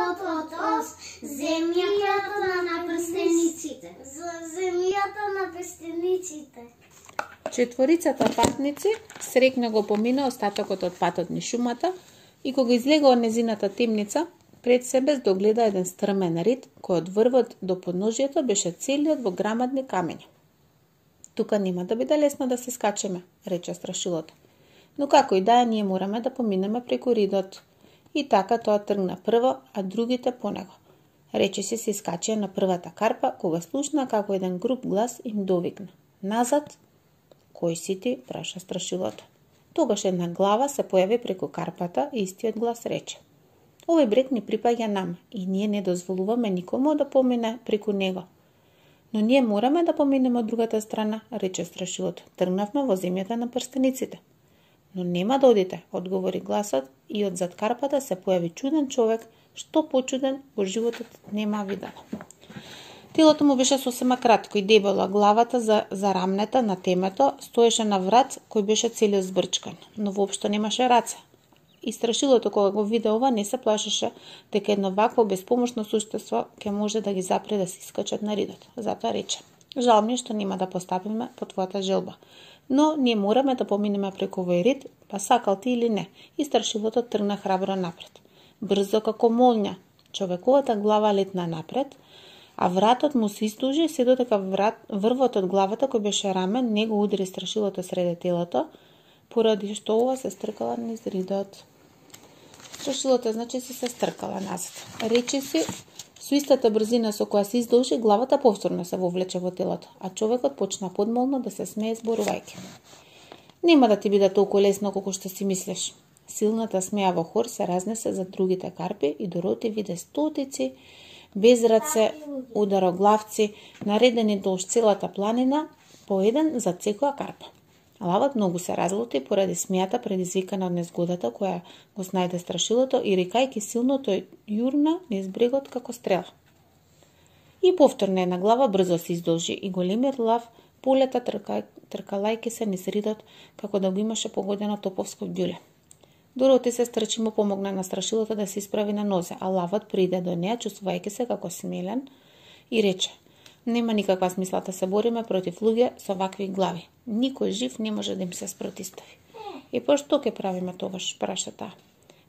светот од земјата на прстениците. Земјата на прстениците. Четворицата патници срекна го помина остатокот од патот низ шумата и кога излега од незината темница, пред себе догледа еден стрмен рид кој од врвот до подножието беше целиот во грамадни камења. Тука нема да биде лесно да се скачеме, рече страшилото. Но како и да е, ние мораме да поминеме преку ридот. И така тоа тргна прво, а другите по него. Рече се искачија на првата карпа, кога слушна како еден груб глас им довикна. Назад! Кој си ти? Праша страшилото. Тогаш една глава се појави преку карпата и истиот глас рече. Овој брег ни припаѓа нам и ние не дозволуваме никому да помине преку него. Но ние мораме да поминеме од другата страна, рече страшилото. Тргнавме во земјата на прстениците. Но нема да одите, одговори гласот и од зад карпата се појави чуден човек, што почуден во животот нема видено. Телото му беше сосема кратко и дебело, главата за рамнета на темето стоеше на врат кој беше целиот збрчкан, но воопшто немаше раце. И страшилото кога го виде ова не се плашеше дека едно вакво безпомошно суштество ќе може да ги запре да се искачат на ридот. Затоа рече: жал ми што нема да постапиме по твојата желба, но ние мораме да поминеме преку овој рид, па сакал ти или не. И страшилото тргна храбро напред. Брзо како молња, човековата глава летна напред, а вратот му се издужи се додека врвот од главата кој беше рамен не го удри страшилото среде телото, поради што ова се стркала низ ридот. Страшилото значи се стркала назад. Рече си, со истата брзина со која се издолжи, главата повторно се вовлече во телото, а човекот почна подмолно да се смее зборувајќи. Нема да ти биде толку лесно колку што си мислиш. Силната смеа во хор се разнесе за другите карпи и Дороти виде стотици без раце, удароглавци, наредени долж целата планина, по еден за секоја карпа. Лавот многу се разлути поради смејата предизвикана од незгодата која го снајде страшилото и рикајки силно тој јурна низ брегот како стрела. И повторно една глава брзо се издолжи и големиот лав полета тркалајки се низ ридот како да го имаше погодено топовско ѓуле. Дороти се стрчи му помогна на страшилото да се исправи на нозе, а лавот приде до неа чувствувајќи се како смелен и рече: нема никаква смисла да се бориме против луѓе со вакви глави. Никој жив не може да им се спротистави. И па што ќе правиме тогаш, праша таа.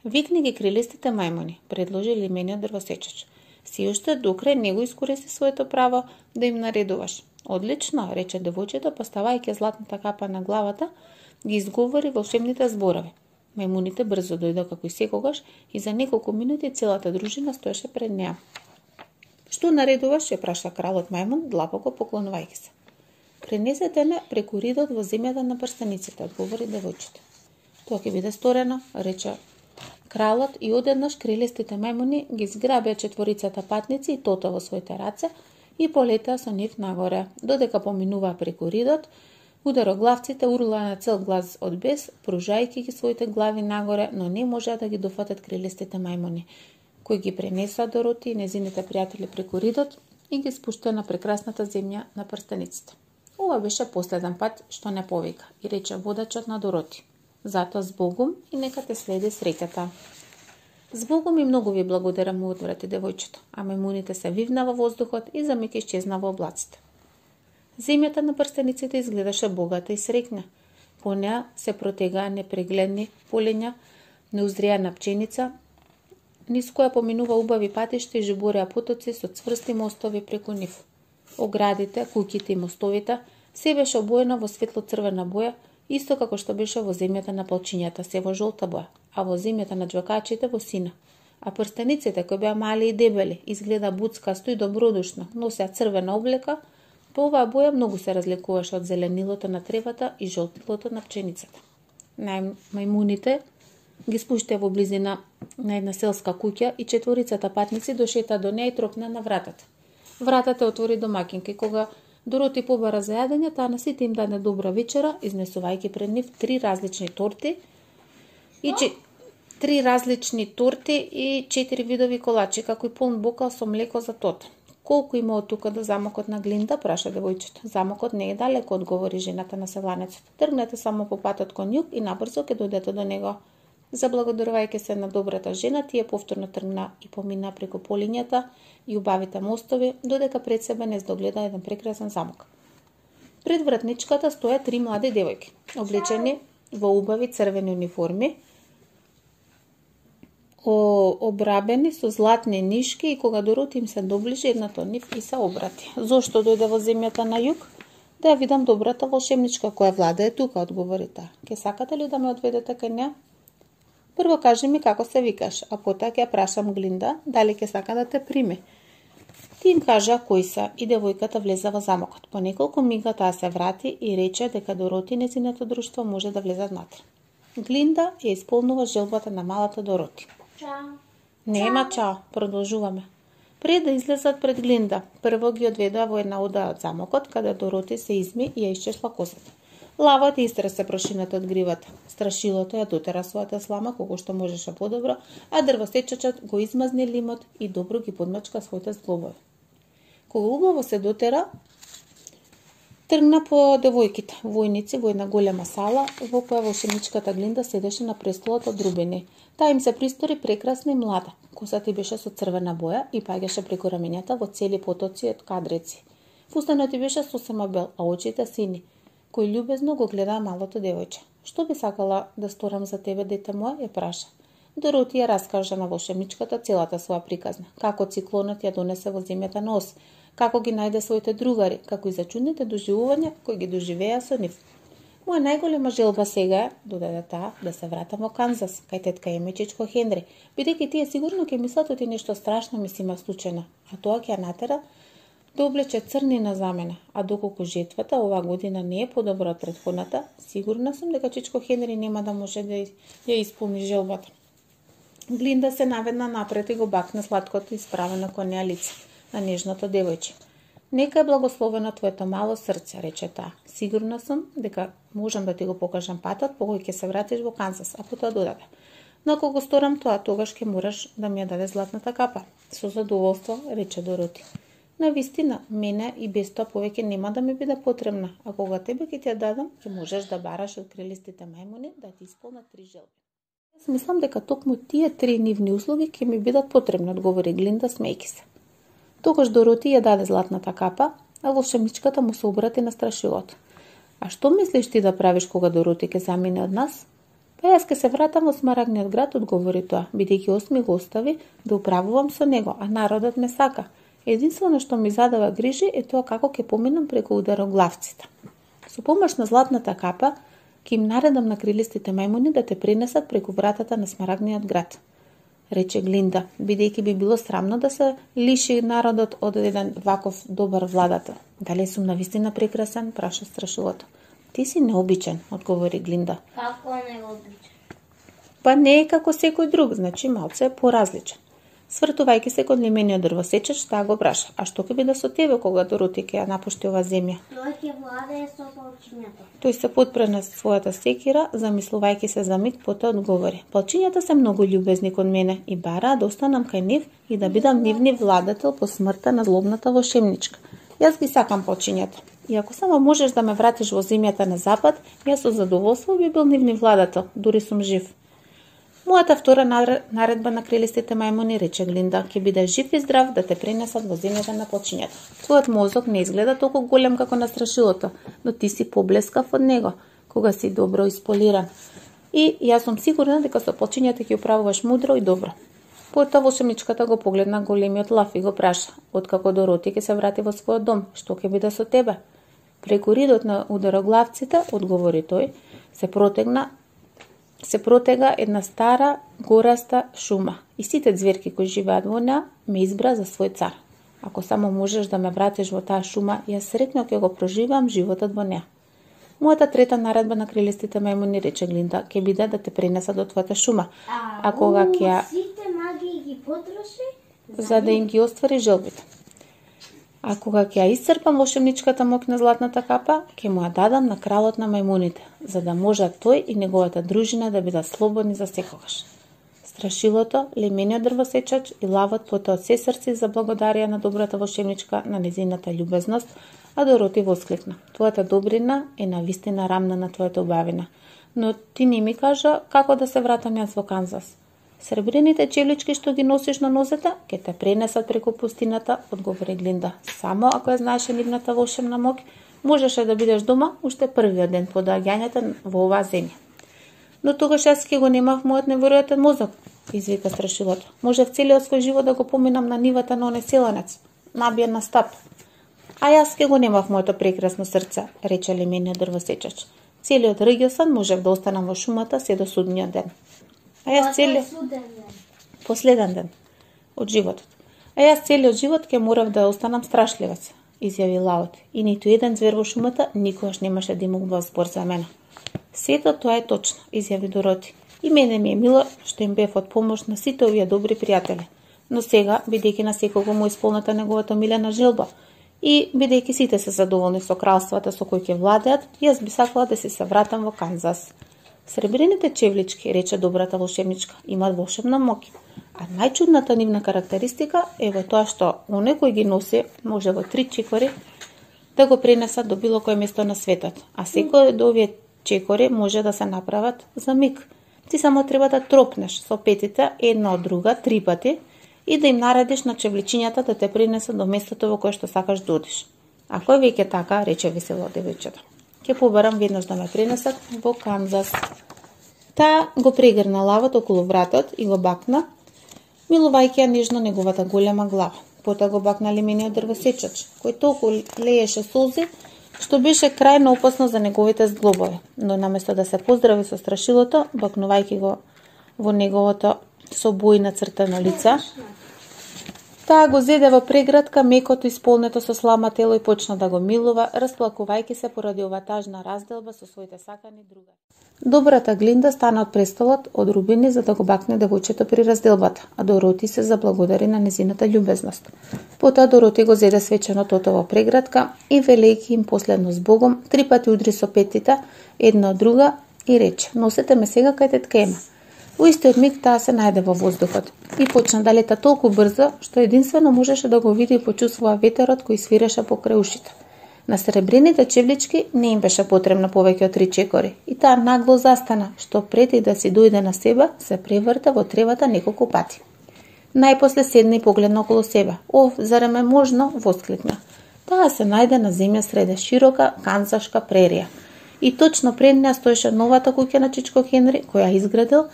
Викни ги крилистите мајмуни, предложи лимениот дрвосечач. Си уште докрај не го искористи своето право да им наредуваш. Одлично, рече девојчето, поставајќи златната капа на главата, ги изговори волшебните зборови. Мајмуните брзо дојдоа како и секогаш и за неколку минути целата дружина стоеше пред неа. Што наредуваш, ја праша кралот мајмун, длабоко поклонувајќи се. Пренесете ме преку ридот во земјата на прстениците, одговори девојчето. Тоа ќе биде сторено, рече кралот и одеднаш крилестите мајмуни ги зграбеа четворицата патници и тото во своите раце и полетеа со нив нагоре. Додека поминуваа преку ридот, удароглавците урлаа на цел глас од бес, пружајќи ги своите глави нагоре, но не можеа да ги дофатат крилестите мајмуни, кои ги пренесоа Дороти и незините пријатели преку ридот и ги спуштаа на прекрасната земја на прстениците. Ова беше последен пат што не повика и рече водачот на Дороти: затоа збогум и нека те следи среќата. Збогум и многу ви благодарам, му одврати девојчето, а мајмуните се вивна во воздухот и за миг исчезна во облаците. Земјата на прстениците изгледаше богата и среќна. По неа се протегаа непрегледни полења, неузријана пченица, низ која поминува убави патишта и жубореа потоци со цврсти мостови преку нив. Оградите, куќите и мостовите се беше обоено во светло-црвена боја, исто како што беше во земјата на палчињата, се во жолта боја, а во земјата на џвакачите во сина. А прстениците, кои беа мали и дебели, изгледа буцкасто и добродушно, носеа црвена облека, по оваа боја многу се разликуваше од зеленилото на тревата и жолтилото на пченицата. Мајмуните ги спуштија во близина на една селска куќа и четворицата патници дошета до неа и тропна на вратата. Вратата отвори домакинка и кога Дороти побара за јадење, таа на сите им даде добра вечера, изнесувајќи пред нив три различни торти и 4 видови колачи, како и полн бокал со млеко за тот. Колку има од тука до замокот на Глинда, праша девојчето. Замокот не е далеко, одговори жената на селанецот. Тргнете само по патот кон југ и набрзо ќе дојдете до него. Заблагодарувајќи се на добрата жена, тие повторно тргна и помина преку полињата и убавите мостови, додека пред себе не здогледа еден прекрасен замок. Пред вратничката стоја 3 млади девојки, облечени во убави црвени униформи, обрабени со златни нишки, и кога Дороти им се доближи, едната од нив и се обрати. Зошто дојде во земјата на југ? Да ја видам добрата волшебничка која влада е тука, одговори таа. Ке сакате ли да ме одведете кај неа? Прво кажи ми како се викаш, а потоа ќе ја прашам Глинда дали ќе сака да те прими. Ти им кажа кои се и девојката влезе во замокот. По неколку мига таа се врати и рече дека Дороти и нејзиното друштво може да влезат внатре. Глинда ја исполнува желбата на малата Дороти. Чао. Нема чао, продолжуваме. Пред да излезат пред Глинда, прво ги одведоа во една одаја од замокот, каде Дороти се изми и ја исчешла косата. Лавот истресе прошината од гривата. Страшилото ја дотера својата слама колку што можеше подобро, а дрвосечачот го измазни лимот и добро ги подмачка своите зглобови. Кога убаво се дотера, тргна по девојките, војници, во една голема сала, во која волшебничката Глинда седеше на престолот од рубини. Таа им се пристори прекрасна и млада. Косата ти беше со црвена боја и паѓаше преку рамењата во цели потоци од кадреци. Фустанот ти беше сосема бел, а очите сини. Кој љубезно го гледаа малото девојче. Што би сакала да сторам за тебе, дете мое? Ја праша. Дороти ја раскажа на волшебничката целата своја приказна, како циклонот ја донесе во земјата на Оз, како ги најде своите другари, како и за чудните доживувања кои ги доживеа со нив. Моја најголема желба сега е, додаде таа, да се вратам во Канзас, кај тетка и чичко Хенри, бидејќи тие сигурно ќе мислат оти нешто страшно ми се има случајно, а тоа ќе ја натера да облече црнина за мене, а доколку жетвата оваа година не е подобра од претходната, сигурна сум дека чичко Хенри нема да може да ја исполни желбата. Глинда се наведна напред и го бакна сладкото исправено кон неа лице на нежното девојче. Нека е благословено твоето мало срце, рече таа. Сигурна сум дека можам да ти го покажам патот по кој ќе се вратиш во Канзас, а потоа додаде. Но ако го сторам тоа, тогаш ќе мораш да ми ја даде златната капа. Со задоволство, рече Дороти. Навистина, мене и без тоа повеќе нема да ми биде потребна, а кога тебе ќе ти ја дадам, ќе можеш да бараш од крилистите мајмуни да ти исполнат 3 желби. Јас мислам дека токму тие 3 нивни услуги ќе ми бидат потребни, одговори Глинда смејки се. Тогаш Дороти ја даде златната капа, а волшебничката му се обрати на страшилото. А што мислиш ти да правиш кога Дороти ќе замине од нас? Па јас ќе се вратам во Смарагниот град, одговори тоа, бидејќи осми го остави да управувам со него, а народот ме сака. Единствено што ми задава грижи е тоа како ќе поминам преку удароглавците. Со помош на златната капа, ќе им наредам на крилистите мајмуни да те принесат преку вратата на Смарагниот град, рече Глинда, бидејќи би било срамно да се лиши народот од еден ваков добар владател. Дали сум навистина прекрасен? Праша страшилото. Ти си необичен, одговори Глинда. Како необичен? Па не е како секој друг, значи малце е поразличен. Свртувајќи се кон лимениот дрвосечач, таа го праша. А што ќе биде со тебе кога Дороти ќе ја напушти оваа земја? Тој ќе владее со полчињата. Тој се подпре на својата секира, замислувајќи се за миг, потоа одговори. Полчињата се многу љубезни кон мене и бараа да останам кај нив и да бидам нивни владател по смртта на злобната волшебничка. Јас ги сакам полчињата. И ако само можеш да ме вратиш во земјата на запад, јас со задоволство би бил нивни владател, дури сум жив. Мојата втора наредба на крилистите мајмуни, рече Глинда, ќе биде жив и здрав да те пренесат во земјата на полчињата. Твојот мозок не изгледа толку голем како на страшилото, но ти си поблескав од него, кога си добро исполиран. И јас сум сигурна дека со полчињата ќе управуваш мудро и добро. Потоа волшебничката го погледна големиот лав и го праша, откако Дороти ќе се врати во својот дом, што ќе биде со тебе? Преку ридот на удароглавците, одговори тој, се протега една стара, гораста шума и сите ѕверки кои живеат во неа ме избра за свој цар. Ако само можеш да ме вратиш во таа шума, јас сретно ќе го проживам животот во неа. Мојата трета наредба на крилистите мајмуни, рече Глинда, ќе биде да те пренесат до твојата шума. А кога ќе сите магии ги потроши за да им ги оствари желбите. А кога ќе ја исцрпам волшебничката моќ на златната капа, ќе му ја дадам на кралот на мајмуните, за да можат тој и неговата дружина да бидат слободни за секогаш. Страшилото, лемениот дрвосечач и лавот потоа од се срце заблагодарија на добрата волшебничка на незината љубезност, а Дороти воскликна: Твојата добрина е навистина рамна на твојата убавина. но ти не ми кажа како да се вратам јас во Канзас. Сребрените чевлички што ги носиш на нозете, ќе те пренесат преку пустината, одговори Глинда. Само ако ја знаеше нивната волшебна моќ, можеше да бидеш дома уште првиот ден по доаѓањето во оваа земја. Но тогаш јас ќе го немав мојот неверојатен мозок, извика страшилото. Можев целиот свој живот да го поминам на нивата на оне селанец, набиен на стап. А јас ќе го немав моето прекрасно срце, рече лемениот дрвосечач. Целиот региосан можев да останам во шумата се до судниот ден. А јас последен ден од животот. А јас целиот живот ќе морав да останам страшливец, изјави Лаот, и ниту еден звер во шумата никогаш немаше да имува збор за мене. Сето тоа е точно, изјави Дороти. И мене ми е мило што им бев од помош на сите овие добри пријатели. Но сега, бидејќи на секого му исполната неговата милена желба, и бидејќи сите се задоволни со кралствата со кои ќе владеат, јас би сакала да се вратам во Канзас. Сребрените чевлички, рече добрата волшебничка, имаат волшебна моќ. А најчудната нивна карактеристика е во тоа што оне кој ги носи може во 3 чекори да го пренесат до било кој место на светот, а секој од овие чекори може да се направат за миг. Ти само треба да тропнеш со петите една од друга 3 пати и да им наредиш на чевличињата да те пренесат до местото во кое што сакаш да одиш. Ако е веќе така, рече весело девојчето, ќе побарам веднаш да ме пренесат во Канзас. Таа го прегрна лавот околу вратот и го бакна, милувајќи ја нежно неговата голема глава. Потоа го бакна лемениот дрвосечач, кој толку лееше солзи, што беше крајно опасно за неговите зглобови. Но наместо да се поздрави со страшилото, бакнувајќи го во неговото со бои нацртано лице, таа го зеде во преградка мекото исполнето со слама тело и почна да го милува, расплакувајќи се поради ова тажна разделба со своите сакани другари. Добрата Глинда стана од престолот од рубини за да го бакне девојчето при разделбата, а Дороти се заблагодари на незината љубезност. Потоа Дороти го зеде свечено тото во преградка и велејќи им последно збогом, 3 пати удри со петите, една од друга и рече: "Носете ме сега кај тетка Ема." Во истиот миг таа се најде во воздухот и почна да лета толку брзо што единствено можеше да го види и почувствува ветерот кој свиреше покрај ушите. На сребрените чевлички не им беше потребно повеќе од 3 чекори и таа нагло застана, што преди да си дојде на себе, се преврта во тревата неколку пати. Најпосле седна и погледна околу себе. "О, зарем е можно?" воскликна. Таа се најде на земја среде широка канзашка прерија. И точно пред неа стоеше новата куќа на Чичко Хенри, која изградил,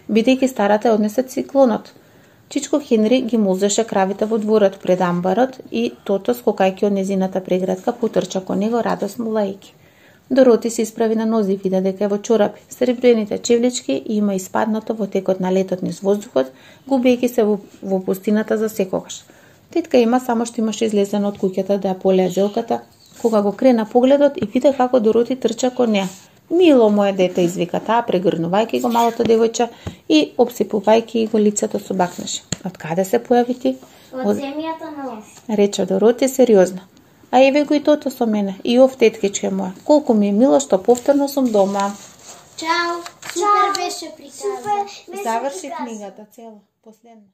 бидејќи старата однесе циклонот. Чичко Хенри ги музеше кравите во дворот пред амбарот и тото скокајќи од незината преградка потрча кон него радосно лајки. Дороти се исправи на нози и вида дека е во чорапи, сребрените чевлички и има испаднато во текот на летот низ воздухот, губејќи се во пустината за секогаш. Тетка Ема само што имаше излезена од куќата да ја полеа желката, кога го крена погледот и вида како Дороти трча кон неа. "Мило мое дете," извика таа, прегрнувајќи го малото девојче и обсипувајќи го лицето со бакнеш. "Од каде се појави ти?" Од земјата на ос. Рече Дороти сериозно. "А еве го и тото со мене, и ов теткичке моја. Колку ми е мило што повторно сум дома." Чао, супер беше приказна. Заврши книгата цела, последна.